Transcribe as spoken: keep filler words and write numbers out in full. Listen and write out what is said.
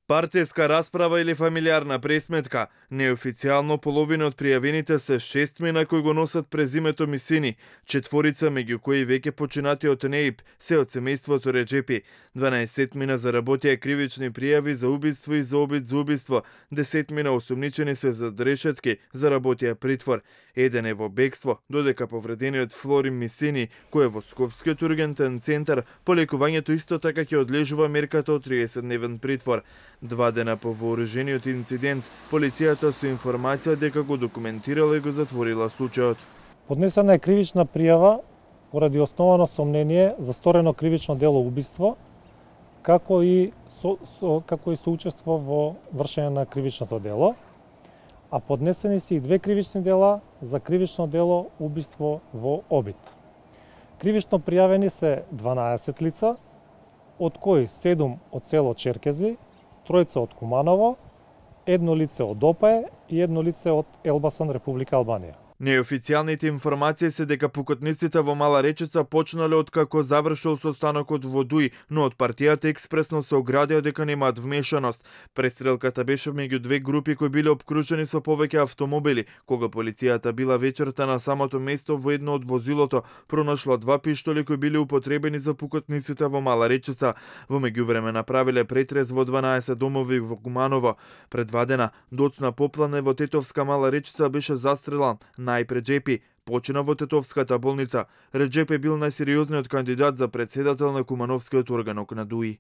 Партиска расправа или фамилиарна пресметка? Неофицијално половина од пријавените се шестмина кои го носат презимето Мисини, четворица меѓу кои веќе починати од НЕИП, се од семејството Реџепи. дванаесетмина заработија кривични пријави за убиство и за обид за убиство, десетмина осумничени се за решетки, заработија притвор. Еден е во бегство, додека повредениот Флорин Мисини, кој е во Скопскиот ургентен центар, по лекувањето исто така ќе одлежува мерката од триесетдневен притвор. Два дена по вооружениот инцидент, полицијата со информација дека го документирала и го затворила случајот. Поднесена е кривична пријава поради основано сомнение за сторено кривично дело убиство, како и со, со како и соучество во вршење на кривичното дело, а поднесени се и две кривични дела за кривично дело убиство во обид. Кривично пријавени се дванаесет лица, од кои седум од село Черкези, тројца од Куманово, едно лице од Опае и едно лице од Елбасан, Република Албанија. Неофицијалните информации се дека пукотниците во Мала Речица почнале од како завршил состанокот во Дуј, но од партијата експресно се оградија дека немаат вмешаност. Престрелката беше меѓу две групи кои биле обкружени со повеќе автомобили. Кога полицијата била вечерта на самото место, во едно од возилото пронашла два пиштоли кои биле употребени за пукотниците во Мала Речица. Во меѓувреме направиле претрез во дванаесет домови во Куманово. Пред два дена доцна Поплане во Тетовска Мала Речица беше застрелан. Најп Реџепи почина во Тетовската болница. Реџепи бил најсериозниот кандидат за претседател на Кумановскиот органок на Дуи.